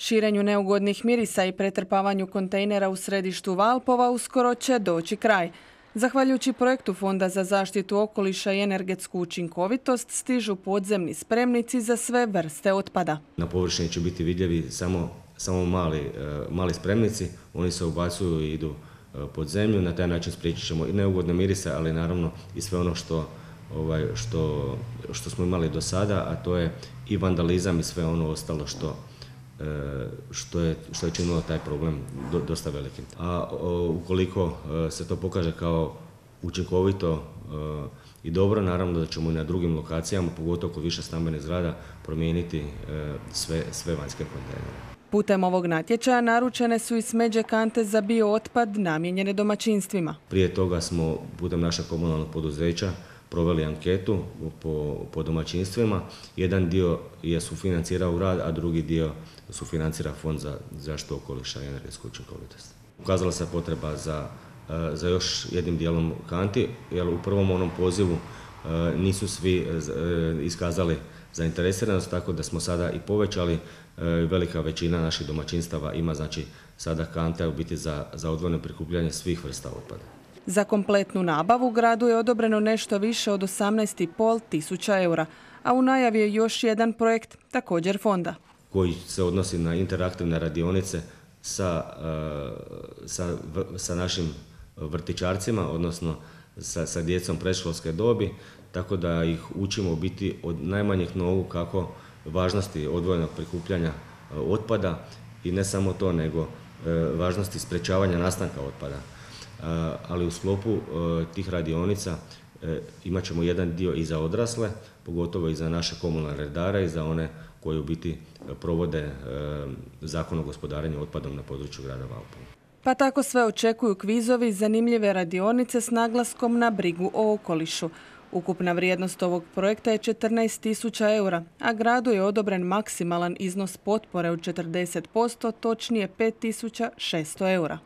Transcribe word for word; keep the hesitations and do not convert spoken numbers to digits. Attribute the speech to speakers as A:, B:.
A: Širenju neugodnih mirisa i pretrpavanju kontejnera u središtu Valpova uskoro će doći kraj. Zahvaljujući projektu Fonda za zaštitu okoliša i energetsku učinkovitost stižu podzemni spremnici za sve vrste otpada.
B: Na površini će biti vidljivi samo, samo mali, mali spremnici, oni se ubacuju i idu pod zemlju, na taj način spriječit ćemo i neugodne mirise, ali naravno i sve ono što, ovaj, što, što smo imali do sada, a to je i vandalizam i sve ono ostalo što Što je, što je činilo taj problem dosta velikim. A ukoliko se to pokaže kao učinkovito i dobro, naravno da ćemo i na drugim lokacijama, pogotovo kod više stambenih zgrada, promijeniti sve, sve vanjske kontejnere.
A: Putem ovog natječaja naručene su i smeđe kante za biootpad namijenjene domaćinstvima.
B: Prije toga smo putem našeg komunalnog poduzeća proveli anketu po, po domaćinstvima. Jedan dio je sufinancirao rad, a drugi dio sufinancira Fond za zaštitu okoliša i energetsku učinkovitost. Ukazala se potreba za, za još jednim dijelom kanti, jer u prvom onom pozivu nisu svi iskazali zainteresiranost, tako da smo sada i povećali. Velika većina naših domaćinstava ima znači sada kante u biti za, za odvojeno prikupljanje svih vrsta otpada.
A: Za kompletnu nabavu gradu je odobreno nešto više od osamnaest i pol tisuća eura, a u najavi je još jedan projekt, također fonda,
B: koji se odnosi na interaktivne radionice sa, sa, sa našim vrtićarcima, odnosno sa, sa djecom predškolske dobi, tako da ih učimo biti od najmanjih nogu kako važnosti odvojenog prikupljanja otpada i ne samo to, nego važnosti sprečavanja nastanka otpada. Ali u sklopu tih radionica imat ćemo jedan dio i za odrasle, pogotovo i za naše komunalne redare i za one koji u biti provode Zakon o gospodarenju otpadom na području grada Valpova.
A: Pa tako sve očekuju kvizovi, zanimljive radionice s naglaskom na brigu o okolišu. Ukupna vrijednost ovog projekta je četrnaest tisuća eura, a gradu je odobren maksimalan iznos potpore od četrdeset posto, točnije pet tisuća šesto eura.